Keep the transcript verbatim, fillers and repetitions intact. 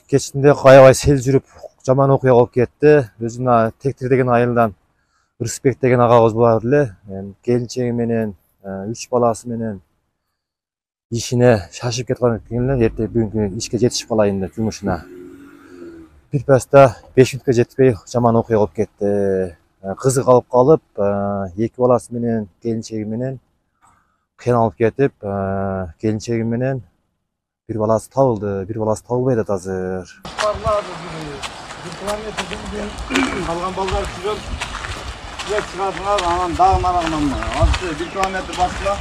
Кечинде аябай сел жүрүп жаман окуя болуп кетти. Өзүнө Тектир деген айылдан Рысбек деген агабыз бар эле. Келинчеги менен үч баласы менен ишине шашып кеткен эле. Эртең бүгүнкү ишке жетишип калайын деп жумушуна. Бир паста беш мүнөткө жетпей жаман окуя болуп кетти. Кызы калып калып, эки баласы менен келинчеги менен кыйналып кетип, келинчеги менен бир баласы табылды, бир баласы табылбай атат азыр. бир километрден калган балдар жүрөт. Сүрөт чыгардыңар, анан дагы нарагынан азыр бир километр басыла.